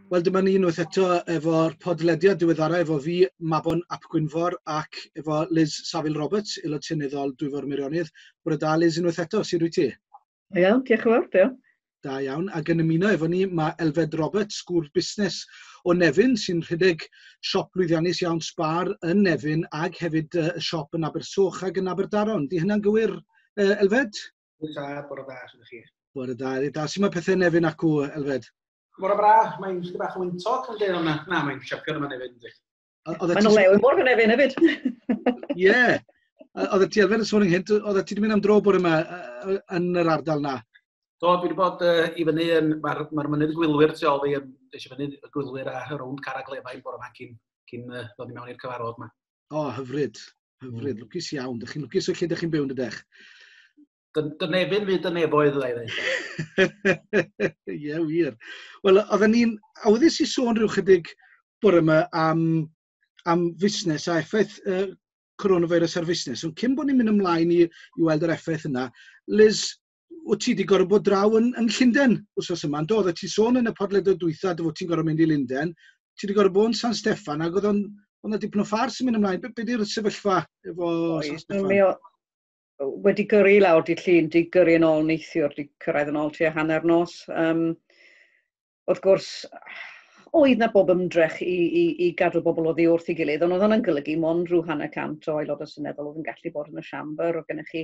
Wel, dyma ni unwaith eto efo'r podlediad diweddara efo fi, Mabon ap Gwynfor, ac efo Liz Saville Roberts, aelod seneddol Dwyfor Meirionnydd. Bore da, Liz, unwaith eto, sut wyt ti? Iawn, diolch yn fawr, diolch. Da iawn. Ac yn ymuno efo ni, mae Elfed Roberts, gŵr busnes o Nefyn, sy'n rhedeg siop lwyddiannus iawn Spar yn Nefyn, ac hefyd y siop yn Abersoch ac yn Aberdaron. Di hynna'n gywir, Elfed? Da, bore da, sut ydych chi? Bore da, da. Sut mae pethau Nefyn acw, Elfed? Mor braf, mae'n chydig bach o wyntog yn dweud, na, na mae'n siapio yma Nefyn, yndi. Mae'n olew yn mor Nefyn hefyd. Ie. Oedd ti Elfed yn sôn ynghynt, oedd ti wedi mynd am dro bore yma yn yr ardal na? Do, dwi wedi bod i fyny yn, mae'r ma mynydd gwylwyr tu ôl fi, es i fyny y gwylwyr a rownd Carreg Lefain bore yma cyn ddod i mewn i'r cyfarfod yma. O, hyfryd, hyfryd, lwcus iawn. Dych chi'n lwcus o lle dych chi'n byw yn dydych? Dy Nefyn fydd dy nefoedd, dda i ddweud. Ie, wir. Wel, oedden ni'n awyddus i sôn rhyw chydig bore yma am fusnes a effaith coronavirus ar fusnes. Ond cyn bod ni'n mynd ymlaen i weld yr effaith yna, Liz, wyt ti wedi gorfod bod draw yn Llundain wsos yma, yn do? Oeddet ti sôn yn y podlediad dwytha dy fod ti'n gorfod mynd i Lundain. Ti wedi gorfod bod yn San Steffan ac oedd o'n dipyn o ffars yn mynd ymlaen. Be di'r sefyllfa efo San Steffan? Mi wedi gyrru lawr di Llun, di gyrru yn ôl neithiwr, di cyrraedd yn ôl tua hanner nos. Wrth gwrs, oedd na bob ymdrech i gadw bobl oddi wrth ei gilydd, ond oedd hwnna'n golygu mond rhyw 150 o aelodau seneddol oedd yn gallu bod yn y siambr. Oedd gennych chi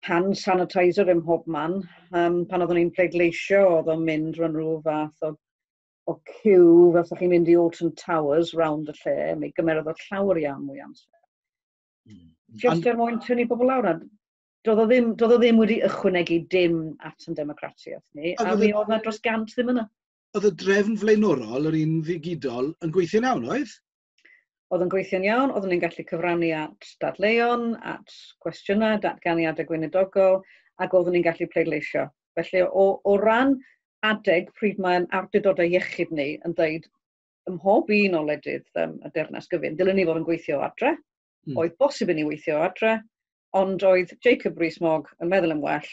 hand sanitizer ym mhob man. Pan oeddwn ni'n pleidleisio, oedd o'n mynd rhan rhyw fath o ciw, fel sa chi'n mynd i Alton Towers round y lle. Mi gymerodd o llawer iawn mwy amser. Just er mwyn tynnu bobl lawr. Doedd o ddim wedi ychwanegu dim at yn democratiaeth ni, a mi oedd na dros 100 ddim yna. Oedd y drefn flaenorol, yr un ddigidol, yn gweithio'n iawn, oedd? Oedd yn gweithio'n iawn, oeddwn ni'n gallu cyfrannu at dadleuon, at cwestiynau, datganiadau gweinidogol, ac oeddwn ni'n gallu pleidleisio. Felly, o ran adeg pryd mae'n awdurdodau iechyd ni yn dweud ym mhob un o wledydd y Deyrnas Gyfun, dylen ni fod yn gweithio adre. Oedd bosib i ni weithio adre, ond oedd Jacob Rees-Mogg yn meddwl yn well,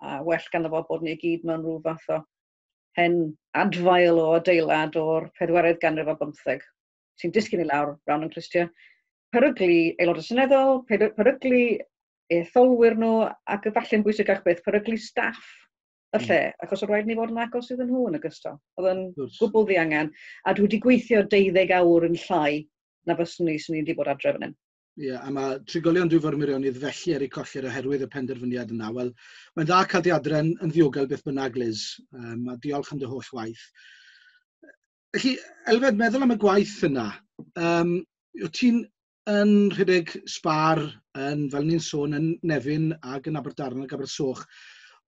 a well ganddo fo bod ni gyd mewn rhyw fath o hen adfail o adeilad o'r 4th ganrif ar bymtheg, sy'n disgyn i lawr rownd yn clustiau. Peryglu aelodau seneddol, peryglu etholwyr nhw, ac efallai'n bwysicach beth, peryglu staff y lle, achos oedd rhaid ni fod yn agos iddyn nhw yn ogystal. Oedd yn gwbl ddiangen, a dwi wedi gweithio 12 awr yn llai na fyswn i swn i wedi bod adre fan hyn. Ie, a mae trigolion Dwyfor Meirionnydd felly ar eu colled oherwydd y penderfyniad yna. Wel, mae'n dda cael dy adre'n yn ddiogel beth bynnag, Liz, a diolch am dy holl waith. Felly, Elfed, meddwl am y gwaith yna. Wyt ti'n yn rhedeg Spar, yn, fel ni'n sôn, yn Nefyn ac yn Aberdaron ac Abersoch.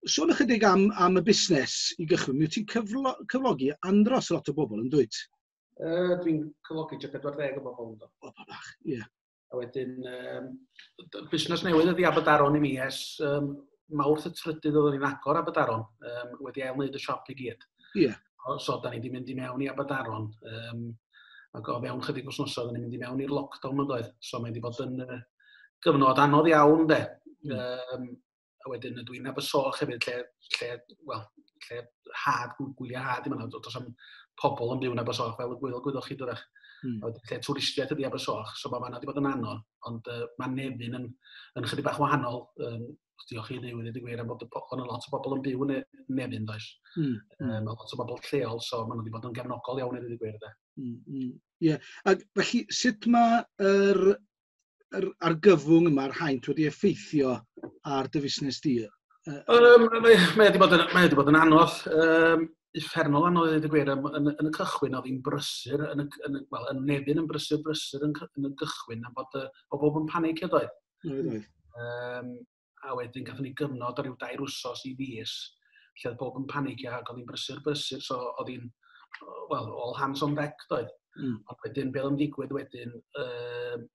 Sôn ychydig am y busnes i gychwyn. Mi wyt ti'n cyflogi andros lot o bobl, yn dwyt? Dwi'n cyflogi tua 40 o bobl, ynddo. O, bach, ie. A wedyn, busnes newydd ydi Aberdaron i mi ers Mawrth y 3rd oeddwn ni'n agor Aberdaron, wedi ail-wneud y siop i gyd. So, da ni wedi mynd i mewn i Aberdaron, ac o fewn chydig wythnosau, oedden ni'n mynd i mewn i'r lockdown yn doedd. So, mae wedi bod yn gyfnod anodd iawn, de. A wedyn, dwi'n Abersoch hefyd, lle had, gwyliau had, dim ond, does am pobl yn byw yn Abersoch, fel y gwyddoch chi dydach. A wedyn, lle twristiaeth ydi Abersoch, so mae fan'na wedi bod yn anodd, ond mae Nefyn yn chydig bach wahanol, diolch i Dduw i ddweud y gwir, am bod yna lot o bobl yn byw yn Nefyn, does. Mae lot o bobl lleol, so maen nhw wedi bod yn gefnogol iawn i ddweud y gwir, de. Ie, ac felly, sut mae yr argyfwng yma, yr haint, wedi effeithio ar dy fusnes di? Mae wedi bod yn, mae wedi bod yn anodd, uffernol anodd i ddweud y gwir. Yn y cychwyn oedd hi'n brysur, yn Nefyn yn brysur, brysur yn y gychwyn, am bod bob yn panicio doedd. Oedd, oedd. A wedyn gathon ni gyfnod o ryw 2 wsos i fis, lle oedd bob yn panicio ac oedd hi'n brysur, brysur, so oedd hi'n, well, all hands on deck doedd. Ond wedyn, be oedd yn digwydd wedyn,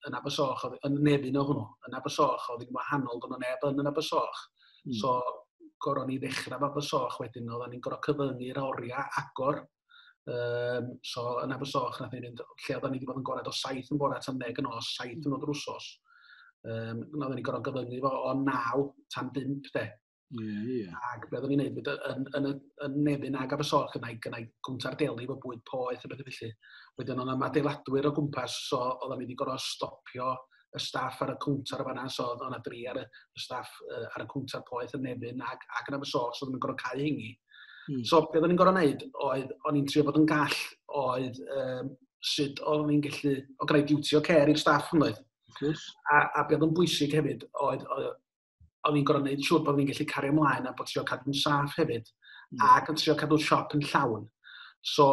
yn Abersoch, oedd, yn Nefyn o hwnnw, yn Abersoch, oedd hi'n wahanol, doedd 'na neb yn Abersoch. So, gorfod ni ddechrau efo Abersoch wedyn, oedden ni'n gorfod cyfyngu'r oriau agor. So, yn Abersoch, nath ni fynd, lle oedden ni wedi bod yn gorau o 7 yn bore tan 10 yn nos, 7 yn o'r wsos. Nathon ni gorfod gyfyngu fo o 9 tan 5, de. Yeah. Ac be oedden ni'n neud, yn Nefyn ag Abersoch, gynnau gwnta'r deli efo bwyd poeth a bethau felly. Wedyn oedd yna adeiladwyr o gwmpas, so oedden ni wedi gorfod stopio y staff ar y cwntar o fanna, so oedd yna dri ar y staff ar y cwntar poeth yn Nefyn ac yn Abersoch, so oedden ni'n gorfod cau hingi. So be oedden ni'n gorfod neud oedd, o'n i'n trio bod yn gall, oedd sut oedden ni'n gallu, o greu duty o care i'r staff yn oedd. A be oedd yn bwysig hefyd oedd o'n i'n gorfod gwneud siŵr bod ni'n gallu cario ymlaen a bod trio cadw'n saff hefyd, ac yn trio cadw'r siop yn llawn. So,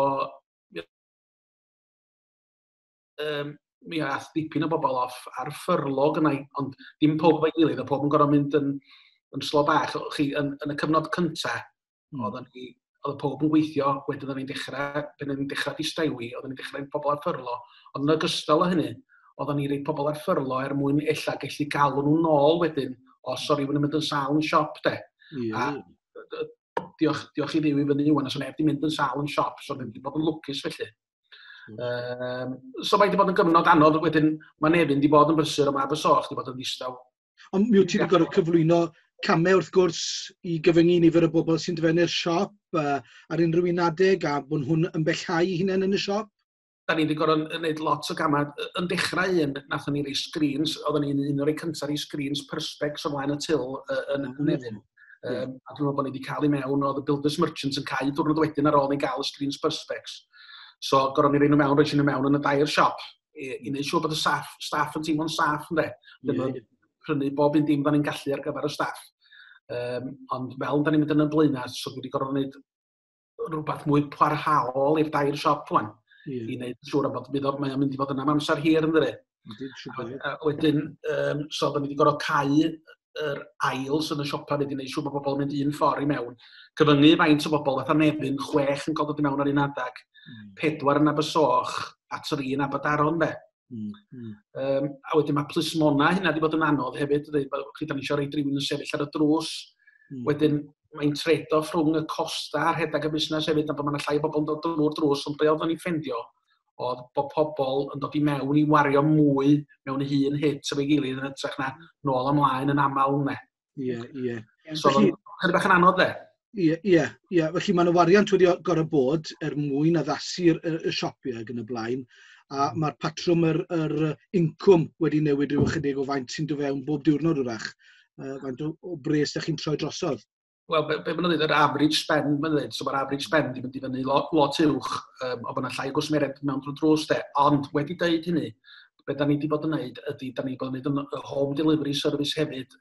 mi ath dipyn o bobl off ar ffyrlo gynnau, ond dim pob efo'i gilydd, a pob yn gorfod mynd yn slo bach. Chi, yn y cyfnod cyntaf, oedd pob yn gweithio, wedyn oedden ni'n dechrau, pan oedden ni'n dechrau distewi, oedden ni'n dechrau pobl ar ffyrlo, ond yn ogystal â hynny, oedden ni'n rhoi pobl ar ffyrlo er mwyn ella gallu galw nhw nôl wedyn, os o rhywun yn mynd yn sâl yn siop, de. A diolch i Dduw i fyny ŵan, os o neb di mynd yn sâl yn siop, so wedi bod yn lwcus felly. So mae wedi bod yn gyfnod anodd, wedyn mae Nefyn wedi bod yn brysur, ond mae Abersoch wedi bod yn ddistaw. Ond mi wyt ti wedi gorfod cyflwyno camau wrth gwrs i gyfyngu nifer y bobl sy'n dyfennu'r siop ar unrhyw un adeg a bod nhw'n ymbellhau eu hunain yn y siop? Da ni wedi gorfod gwneud lot o gamau. Yn dechrau un, nathon ni rei screens, oedden ni'n un o'r rei cyntaf i screens Perspex o flaen y til yn Nefyn. A dwi'n meddwl bod ni wedi cael ei mewn, oedd y Builders Merchants yn cau diwrnod wedyn ar ôl ni gael y screens Perspex. So, gorfod ni rei nhw mewn, roi nhw mewn yn y dair siop i wneud siŵr bod y staff yn teimlo'n saff, ynde. Dyma prynu bob un dim da ni'n gallu ar gyfer y staff. Ond fel da ni'n mynd yn y blaenau, so dwi wedi gorfod gwneud rhywbeth mwy parhaol i'r dair siop wan. I wneud siŵr am bod mae o'n mynd i fod yn am amser hir, yn dydi? A wedyn, so da ni wedi gorfod cau yr aisles yn y siopa wedi gwneud siŵr bod bobl yn mynd un ffordd i mewn. Cyfyngu faint o bobl, fatha Nefyn, 6 yn cael dod i mewn ar un adag, 4 yn Abersoch, a 3 yn Aberdaron, de. A wedyn mae plismona hynna wedi bod yn anodd hefyd, dydi? Chi, da ni eisiau rhaid rhywun yn sefyll ar y drws. Wedyn mae'n trade-off rhwng y costa a'r rhedeg y busnes hefyd, a bod yna llai o bobl yn dod drwy'r drws, ond be oedden ni'n ffeindio oedd bod pobl yn dod i mewn i wario mwy mewn un hit efo'i gilydd yn hytrach na nôl ymlaen yn aml, ne. Ie, ie. So, oedd o'n chydig bach yn anodd, de. Ie. Felly mae yna wariant wedi gorfod bod er mwyn addasu'r y siopau ac yn y blaen, a mae'r patrwm yr incwm wedi newid rhyw ychydig o faint sy'n dod fewn bob diwrnod wrach. Faint o bres da chi'n troi drosodd? Wel, be maen nhw'n dweud, yr average spend, maen nhw'n dweud, so mae'r average spend wedi mynd i fyny lot uwch, o bod yna llai o gwsmeriaid mewn drwy drws, de. Ond wedi dweud hynny, be da ni wedi bod yn neud ydy, da ni wedi bod yn neud yn y home delivery service hefyd,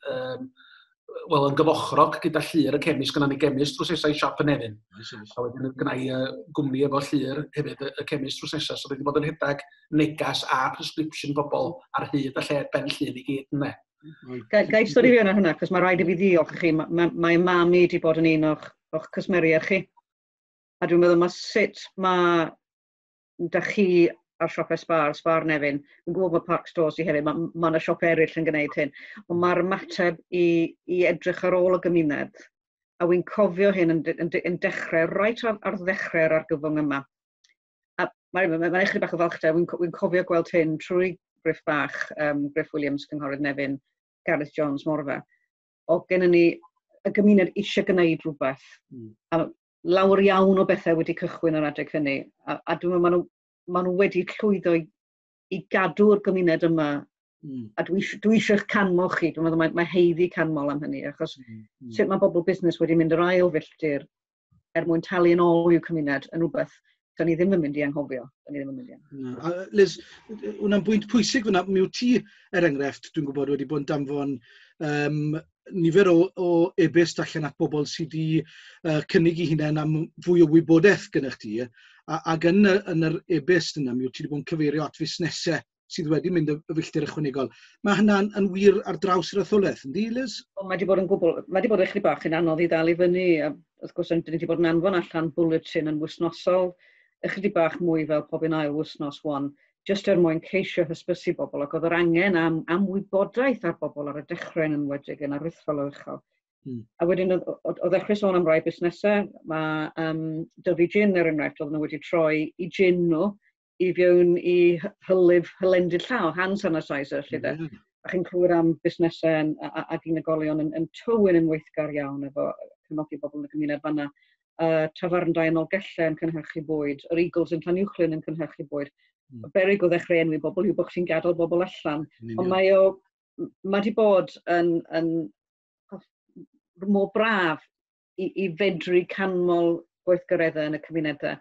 wel, yn gyfochrog gyda Llyr y chemist, gynna ni chemist drws nesa i siop yn Nefyn. Oes. A wedyn gynna i gwmni efo Llyr hefyd, y chemist drws nesa, so wedi bod yn rhedeg negas a prescription bobl ar hyd a lled Ben Llŷn i gyd, ynde. Ga i stori fi yna hwnna, cos mae rhaid i fi ddiolch i chi. Mae mam i wedi bod yn un o'ch cwsmeriaid chi. A dwi'n meddwl mae sut mae da chi ar siopau Spar, Spar Nefyn, yn gwybod bod Park Stores i hefyd, mae yna siop eraill yn gwneud hyn, ond mae'r ymateb i edrych ar ôl y gymuned, a wy'n cofio hyn yn dechrau, reit ar ddechrau'r argyfwng yma. A mae'n ychydig bach o falchder, wy'n cofio gweld hyn trwy Griff Bach, Griff Williams, Cynghorydd Nefyn, Gareth Jones, Morfa. O gennym ni y gymuned eisiau gwneud rhywbeth. A lawer iawn o bethau wedi cychwyn ar adeg hynny. A dwi'n meddwl maen nhw wedi llwyddo i gadw'r gymuned yma. A dwi eisiau'ch canmol chi. Dwi'n meddwl mae haeddu canmol am hynny, achos sut mae bobl busnes wedi mynd yr ail filltir er mwyn talu yn ôl i'w cymuned yn rhywbeth da ni ddim yn mynd i anghofio. Da ni ddim yn mynd i anghofio. Na. A Liz, hwnna'n bwynt pwysig fyna. Mi wyt ti, er enghraifft, dwi'n gwybod, wedi bod yn danfon nifer o e-byst allan at bobl sydd wedi cynnig eu hunain am fwy o wybodaeth gyda chdi. Ac yn yr e-byst yna, mi wyt ti wedi bod yn cyfeirio at fusnesau sydd wedi mynd y filltir ychwanegol. Mae hynna'n yn wir ar draws yr etholaeth, yndi, Liz? O, mae wedi bod yn gwbl, mae wedi bod ychydig bach yn anodd i ddal i fyny. A wrth gwrs, dyn ni wedi bod yn anfon allan bulletin yn wythnosol, ychydig bach mwy fel pob un ail wythnos wan, jyst er mwyn ceisio hysbysu bobl, ac oedd yr angen am wybodaeth ar bobl ar y dechrau yn enwedig yn aruthrol o uchel. A wedyn oedd ddechrau sôn am rai busnesau, mae Dyfi Gin er enghraifft, oedden nhw wedi troi i gin nhw i fewn i hylif hylendid llaw, hand sanitizer, lle de. A chi'n clywed am busnesau ac unigolion yn Tywyn yn weithgar iawn efo cefnogi bobl yn y gymuned fanna. Tafarndai yn Nolgellau yn cynhyrchu bwyd, yr Eagles yn Llanuwchllyn yn cynhyrchu bwyd. Beryg o ddechrau enwi bobl yw bod chi'n gadael bobl allan. Ond mae di bod yn mor braf i fedru canmol gweithgareddau yn y cymunedau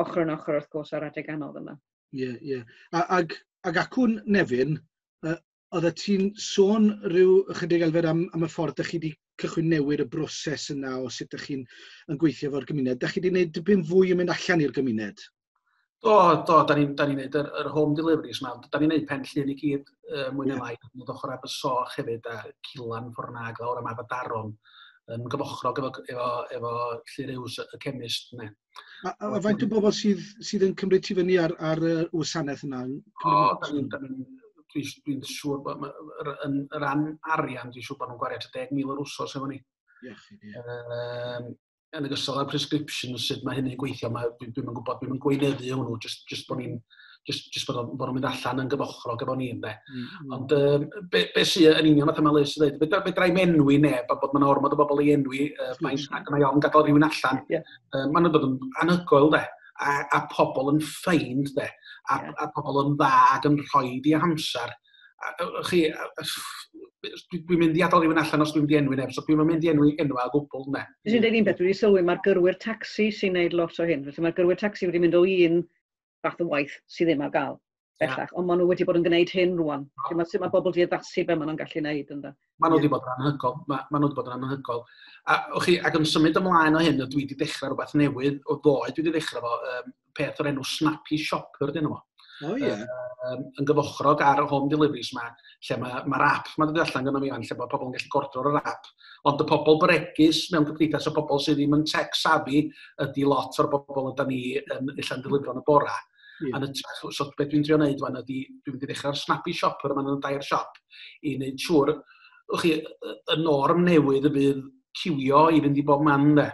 ochr yn ochr wrth gwrs ar adeg anodd yma. Ie, ie. Ag acwn Nefyn, oeddet ti'n sôn rhyw ychydig, Elfed, am y ffordd ydych chi wedi cychwyn newid y broses yna o sut ydych chi'n yn gweithio efo'r gymuned. Ydych chi wedi gwneud dipyn fwy yn mynd allan i'r gymuned? Do, da ni'n da ni neud yr home deliveries ma. Da ni'n neud Pen Llŷn i gyd, mwy neu lai. Ni'n ochr Abersoch hefyd, a Cilan ffordd na, lawr am Aberdaron, yn gyfochrog efo Llyr Yws, y chemist. Ne. A faint o bobl sydd yn cymryd ti fyny ar y wasanaeth yna? O, da ni, dwi'n siŵr bod, yn ran arian, dwi'n siŵr bod nhw'n gwario 10,000 yr wsos efo ni. Iechyd, ie. Yn ogystal â'r prescription, sut mae hynny'n gweithio, dwi'n gwybod, dwi'n gweinyddu hwnnw, just bod ni'n just bod nhw'n mynd allan yn gyfochrog efo ni, ynde. Ond be sydd yn union fatha mae Liz yn dweud, fedra i'm enwi neb, a bod mae'n ormod o bobl i enwi, mae'n mae ofn gadael rhywun allan. Maen nhw'n dod yn anhygoel, de, a pobl yn ffeind, de, a, a pobl yn dda ac yn rhoi di amser. A chi, dwi'n mynd i adael rhywun allan os dwi'n mynd i enwi neb, so dwi'n mynd i enwi enwa o gwbl, ne. Dwi'n dweud un beth, dwi wedi sylwi, mae'r gyrwyr taxi sy'n neud lot o hyn. Felly mae'r gyrwyr taxi wedi mynd o un fath o waith sydd ddim ar gael bellach, ond maen nhw wedi bod yn gwneud hyn rwan. Felly sut mae bobl wedi addasu be maen nhw'n gallu gwneud, ynde. Maen nhw wedi bod yn anhygoel. Ma nhw wedi bod yn anhygoel. A, och chi, ac yn symud ymlaen o hyn, dwi wedi dechrau rhywbeth newydd o ddoe, dwi wedi dechrau fo peth o'r enw Snappy Shopper, dyn nhw. O ie. Yn gyfochrog ar y home deliveries ma, lle mae'r ma app ma'n dod allan gyda mi fan, lle mae pobl yn gallu gordro ar yr app. Ond y pobl bregus mewn cymdeithas, y pobl sydd ddim yn tech savvy, ydy lot o'r bobl yda ni yn allan delifro yn y bora. Yn hytrach, so beth dwi'n trio wneud wan ydy, dwi'n mynd i ddechrau'r Snappy Shopper yma yn y dair siop, i wneud siŵr, chi, y norm newydd y bydd ciwio i fynd i bob man, de.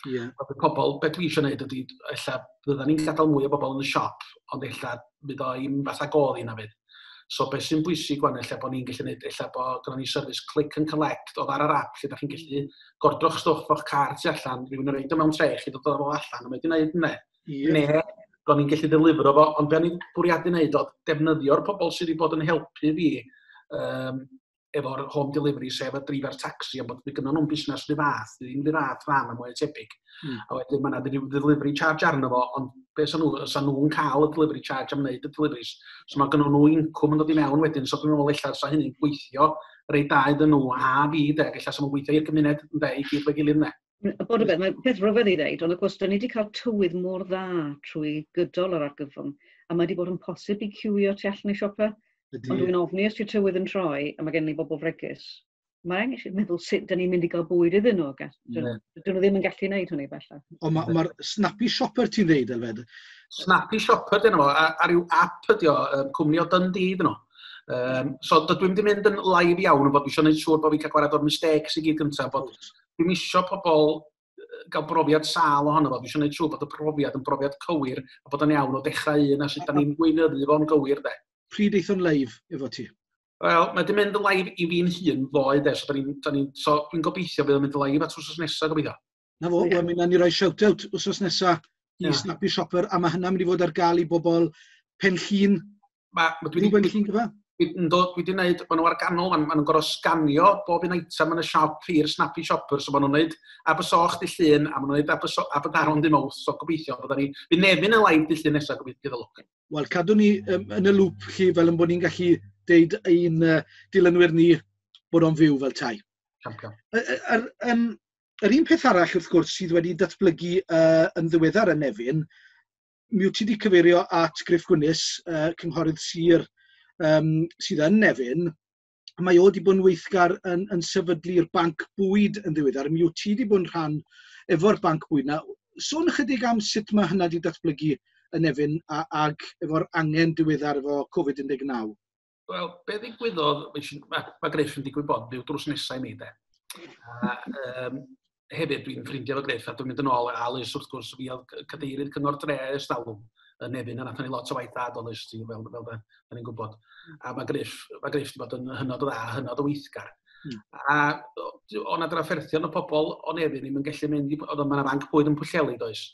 Mae pobl, beth dwi eisiau gwneud ydy, ella fydda ni'n gadael mwy o bobl yn y siop, ond ella fydd o i'm fatha godd i na fydd. So beth sy'n bwysig wan, ella bod ni'n gallu gwneud, ella bod gynnon ni service click and collect oedd ar yr app, lle da chi'n gallu gordro'ch stwff o'ch car tu allan, rhywun yn rhoid o mewn tray, chi dod o fo allan, a mae wedi gwneud hynny. Ne, bod ni'n gallu delifro fo, ond be o'n i'n bwriadu wneud oedd defnyddio'r pobl sydd wedi bod yn helpu fi efo'r home delivery, sef y driver taxi, a bod gynnon nhw'n busnes rhyw fath, ddim rhyw fath fan a mwy tebyg. A wedyn mae yna ryw delivery charge arno fo, ond be sa nhw, sa nhw'n cael y delivery charge am wneud y deliveries. So mae gynnon nhw incwm yn dod i mewn wedyn, so dwi'n meddwl ella sa hynny'n gweithio reit da iddyn nhw a fi, de, ella sa nhw'n gweithio i'r gymuned, ynde, i gyd fo'i gilydd, ne. Bod y beth, mae peth rhyfedd i ddeud, ond wrth gwrs, da ni wedi cael tywydd mor dda trwy gydol yr argyfwng, a mae wedi bod yn posib i ciwio tu allan i siopa. Ond dwi'n ofni os yw'r tywydd yn troi, a mae gen ni bobl fregus, mae angen eisiau meddwl sut da ni'n mynd i gael bwyd iddyn nhw. Dyn nhw ddim yn gallu gwneud hynny bellach. Ond ma Snappy Shopper ti'n dweud, Elfed? Snappy Shopper dyn nhw, a ryw app ydi o, cwmni o Dundee dyn nhw. So dydw i'm di mynd yn live iawn, ond bod dwi eisiau gwneud siŵr bod fi'n cael gwared o'r mistakes i gyd gyntaf, bod dwi'm isio pobl gael brofiad sâl ohono fo. Dwi eisiau gwneud siŵr bod y profiad yn brofiad cywir a bod yn iawn o dechrau un a sut da ni'n gweinyddu fo'n gywir, de. Pryd eith o'n live efo ti? Wel, mae di mynd yn live i fi'n hun ddoe, de, so, so dwi'n gobeithio bydd o'n mynd yn live at wsos nesaf, gobeithio. Na fo, wel, mi wnawn ni roi shout-out wsos nesaf i Snappy Shopper, a mae hynna'n mynd i fod ar gael i bobl Pen Llŷn. Ma dwi Pen Llŷn gyfa? Ynddo, dwi wedi gwneud, maen nhw ar ganol, maen nhw'n gorfod sganio bob un item yn y siop i'r Snappy Shopper, so maen nhw'n gwneud Abersoch dy Llun, a maen nhw'n gwneud Aberdaron dy Mawrth, so gobeithio byddwn ni, fydd Nefyn yn live dy Llun nesaf, gobeithio gyda lwc. Wel, cadw ni yn y lŵp chi fel yn bod ni'n gallu deud ein dilynwyr ni bod o'n fyw fel tai. Champion. Yr un peth arall, wrth gwrs, sydd wedi datblygu yn ddiweddar yn Nefyn, mi wyt ti wedi cyfeirio at Gruff Gwynnes, cynghorydd sir sydd yn Nefyn. Mae o wedi bod yn weithgar yn sefydlu'r banc bwyd yn ddiweddar. Mi wyt ti wedi bod yn rhan efo'r banc bwyd na. Sôn ychydig am sut mae hynna wedi datblygu yn Nefyn ag efo'r angen diweddar efo Covid-19. Wel, be ddigwyddodd, mae Gruff yn digwydd bod byw drws nesau i mi, de. A hefyd dwi'n ffrindiau efo Gruff a dwi'n mynd yn ôl, a Liz wrth gwrs, fi oedd cadeirydd cyngor dre ers talwm. yn Nefyn, a nathon ni lot o waith da, does, ti, fel da ni'n gwybod. A mae Griff wedi bod yn hynod o dda, hynod o weithgar. A o' 'na drafferthion o pobl o Nefyn ddim yn gallu mynd i, oedd yma banc bwyd yn Pwllheli, does?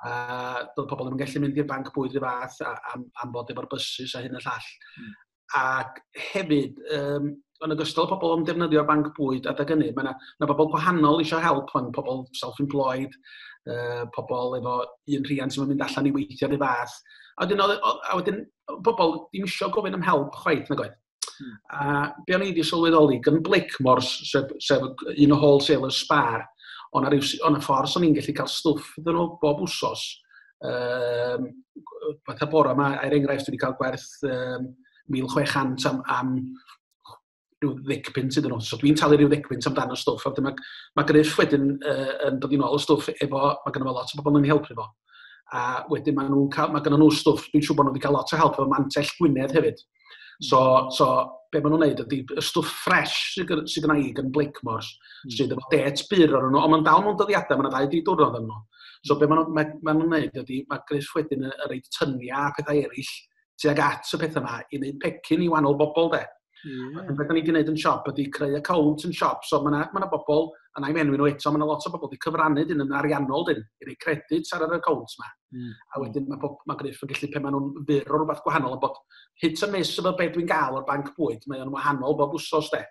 A doedd pobl ddim yn gallu mynd i'r banc bwyd rhyw fath am fod efo'r buses a hyn y llall. Ac hefyd, yn ogystal â pobl yn defnyddio'r banc bwyd adeg hynny, mae yna ma bobl gwahanol eisiau help, mae'n pobl self-employed, pobl efo un rhiant sy'n mynd allan i weithio rhyw fath. A wedyn pobl ddim eisiau gofyn am help chwaith, nag oedd? A be o'n i wedi sylweddoli, gan Blakemores, sef un o wholesalers Spar, o'na ffordd o'n i'n gallu cael stwff iddyn nhw bob wsos. Fatha bora yma, er enghraifft, wedi cael gwerth 1,600 am rhyw 10 punt iddyn nhw. So dwi'n talu rhyw 10 punt amdano stwff. A wedyn mae Griff wedyn yn dod i nôl y stwff efo, mae gynno fo lot o bobl yn helpu fo. A wedyn mae gynno nhw stwff, dwi'n siŵr bod nhw wedi cael lot o help efo Mantell Gwynedd hefyd. So be maen nhw'n neud ydy y stwff fresh sydd gynna i gan Blakemores, sydd efo det byr ar nhw, ond mae'n dal mewn dyddiadau, mae'n 2 3 diwrnod yn nhw. So be maen nhw'n neud ydy, mae Griff wedyn yn rhoid tyniau a pethau eraill tuag at y pethau yma i wneud pecyn i wahanol bobl, de. A beth da ni wedi gwneud yn siop ydy creu account yn siop. So mae yna ma bobl, a na i'm enwi nhw eto, mae yna lot o bobl wedi cyfrannu dyn yn ariannol dyn, i roi credit ar yr account yma. A wedyn mae Griff yn gallu, pe maen nhw'n fyr o rhywbeth gwahanol, ond bod hit a miss efo beth dwi'n gael o'r banc bwyd, mae o'n wahanol bob wsos, de.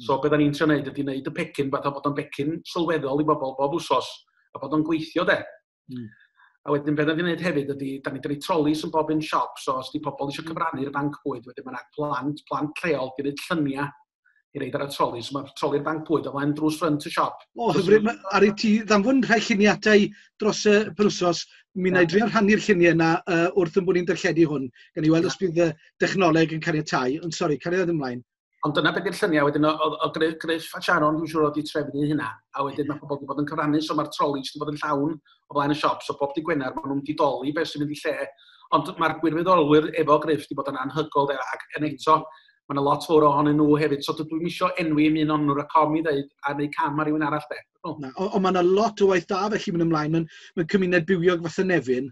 So beth da ni'n trio wneud ydy wneud y pecyn, fatha bod o'n becyn sylweddol i bobl bob wsos, a bod o'n gweithio, de. A wedyn beth da ni'n gwneud hefyd ydy, da ni'n rhoi trolis yn bob un siop, so os di pobl eisiau cyfrannu i'r banc bwyd, wedyn mae yna plant lleol di wneud lluniau i roid ar y troli, so mae troli'r banc bwyd o flaen drws ffrynt y siop. O, hyfryd, ar i ti ddanfon rhai lluniadau dros y penwsos, mi wna i drio rhannu'r lluniau yna wrth yn bod ni'n darlledu hwn, gan i weld os bydd y dechnoleg yn caniatáu, ond sori, cariad ymlaen. Ond dyna beth yw'r lluniau, wedyn o Griff a Sharon, dwi'n siŵr oedd wedi trefnu hynna. A wedyn mae pobl wedi bod yn cyfrannu, so mae'r trolis wedi bod yn llawn o flaen y siop, so bob dydd Gwener maen nhw'n wedi doli beth sy'n mynd i lle. Ond mae'r gwirfoddolwyr efo Griff wedi bod yn anhygoel, de, ac yn eto, mae yna lot fawr ohonyn nhw hefyd, so dydw i'm isio enwi un ohonyn nhw rhac ofn i ddeud a neud cam ar rywun arall, de. O. Na, ond mae yna lot o waith da felly mynd ymlaen mewn cymuned bywiog fath y Nefyn.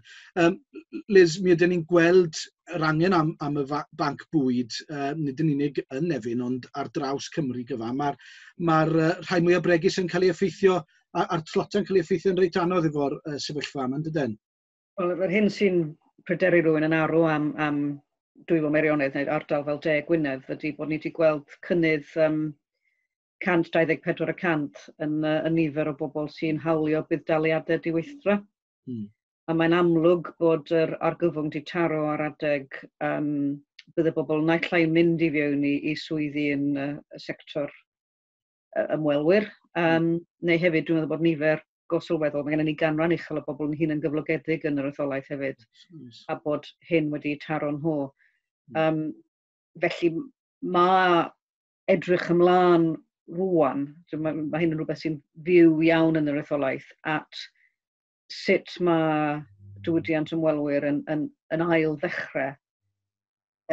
Liz, mi ydyn ni'n gweld yr angen am y banc bwyd, nid yn unig yn Nefyn, ond ar draws Cymru gyfa. Mae'r rhai mwyaf bregus yn cael ei effeithio, a'r tlota'n cael ei effeithio yn reit anodd efo'r sefyllfa yma, yn dydyn? Wel, yr hyn sy'n pryderu rhywun yn arw am Dwyfor Meirionnydd neu ardal fel De Gwynedd ydy bod ni wedi gweld cynnydd 124% yn nifer o bobl sy'n hawlio budd-daliadau diweithdra. A mae'n amlwg bod yr argyfwng wedi taro ar adeg bydd y bobl naill ai'n mynd i fewn i swyddi yn y sector ymwelwyr, neu hefyd dwi'n meddwl bod nifer go sylweddol, mae gennym ni ganran uchel o bobl yn hunan gyflogedig yn yr etholaeth hefyd, a bod hyn wedi taro nhw. Felly mae edrych ymlaen rwan, mae hyn yn rhywbeth sy'n fyw iawn yn yr etholaeth, at sut mae diwydiant ymwelwyr yn ail ddechrau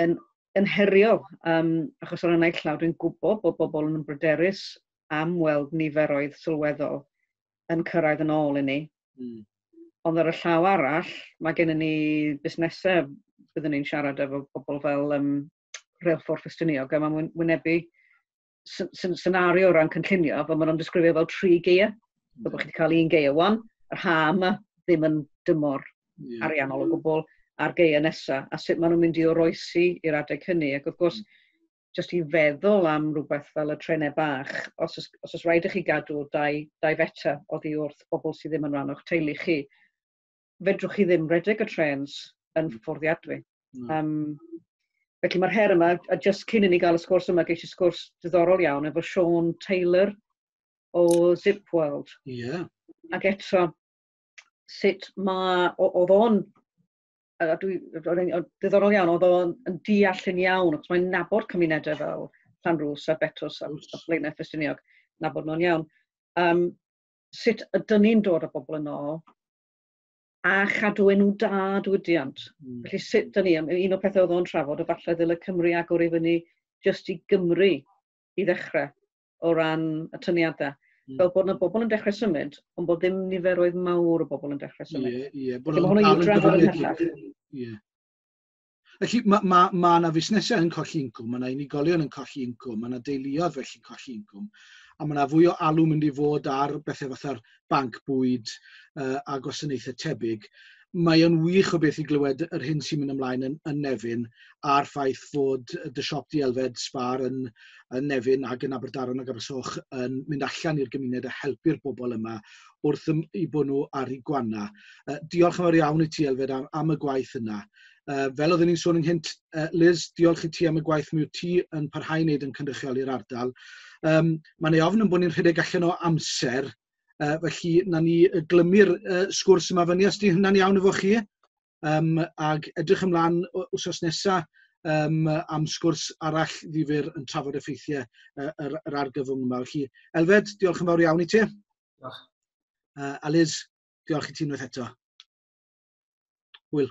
yn heriol. Achos ar y naill llaw dwi'n gwybod bod bobl yn bryderus am weld niferoedd sylweddol yn cyrraedd yn ôl i ni. Ond ar y llaw arall, mae gennym ni busnesau, byddwn ni'n siarad efo bobl fel Rheilffordd Ffestiniog, a mae'n wynebu senario o ran cynllunio, fel maen nhw'n disgrifio fel tri gaeaf. Fel bod chi wedi cael un gaeaf wan, yr ha yma ddim yn dymor ariannol o gwbl, a'r gaeaf nesaf, a sut maen nhw'n mynd i oroesi i'r adeg hynny. Ac wrth gwrs, jyst i feddwl am rhywbeth fel y trenau bach, os oes rhaid i chi gadw 2 fetr oddi wrth bobl sydd ddim yn rhan o'ch teulu chi, fedrwch chi ddim redeg y trens yn fforddiadwy. Felly mae'r her yma, a jyst cyn i ni gael y sgwrs yma, geis i sgwrs diddorol iawn efo Sean Taylor o Zip World. Ac eto, sut mae, oedd o'n, a dwi, oedd diddorol iawn, oedd o'n yn deall yn iawn, achos mae'n nabod cymunedau fel Llanrwst a Betws a Blaenau Ffestiniog, nabod nhw'n iawn. Sut ydyn ni'n dod â bobl yn ôl a chadw enw da diwydiant? Felly sut dyn ni, un o'r pethau oedd o'n trafod, o falle ddyle Cymru agor i fyny jyst i Gymru i ddechrau o ran y tyniadau. Fel bod yna bobl yn dechrau symud, ond bod ddim niferoedd mawr o bobl yn dechrau symud. Ie, ie. Bod Felly mae nhw'n hwnna i'w dal yn drafod gyfyngedig. ymhellach. Ie. Yeah. Felly mae ma, ma 'na fusnesau yn colli incwm, mae 'na unigolion yn colli incwm, mae 'na deuluoedd felly'n colli incwm, a mae 'na fwy o alw mynd i fod ar bethau fatha'r banc bwyd a gwasanaethau tebyg. Mae o'n wych o beth i glywed yr hyn sy'n mynd ymlaen yn Nefyn a'r ffaith fod dy siop di Elfed Spar yn Nefyn ac yn Aberdaron ac Abersoch yn mynd allan i'r gymuned a helpu'r bobl yma wrth i bod nhw ar eu gwana. Diolch yn fawr iawn i ti, Elfed, am y gwaith yna. Fel oeddwn ni'n sôn ynghynt, Liz, diolch i ti am y gwaith mi wyt ti yn parhau i wneud yn cynrychioli'r ardal. Mae'n ei ofn yn bod ni'n rhedeg allan o amser, felly na ni glymu'r sgwrs yma fyny os di hynna'n iawn efo chi. Ag edrych ymlaen wsos nesaf am sgwrs arall ddifyr yn trafod effeithiau yr argyfwng yma. Felly, Elfed, diolch yn fawr iawn i ti. Diolch. A Liz, diolch i ti unwaith eto. Hwyl.